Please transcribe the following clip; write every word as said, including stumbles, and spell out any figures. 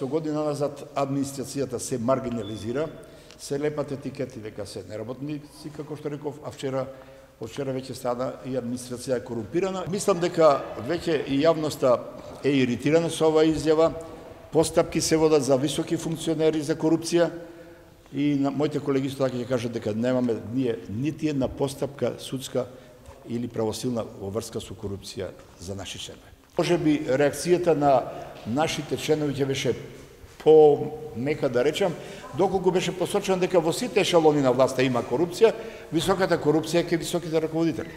со година назад администрацијата се маргинализира, се лепат етикети дека се неработници, како што реков, а вчера од вчера веќе стана и администрација е корумпирана. Мислам дека веќе и јавноста е иритирана со оваа изјава. Постапки се водат за високи функционери за корупција и на моите колеги што така ќе кажат дека немаме ние нити една постапка судска или правосилна во врска со корупција за наши членови. Може би реакцијата на нашите членови ќе беше по-мека да речам, доколку беше посочено дека во сите ешелони на власта има корупција, високата корупција е ке високите раководители.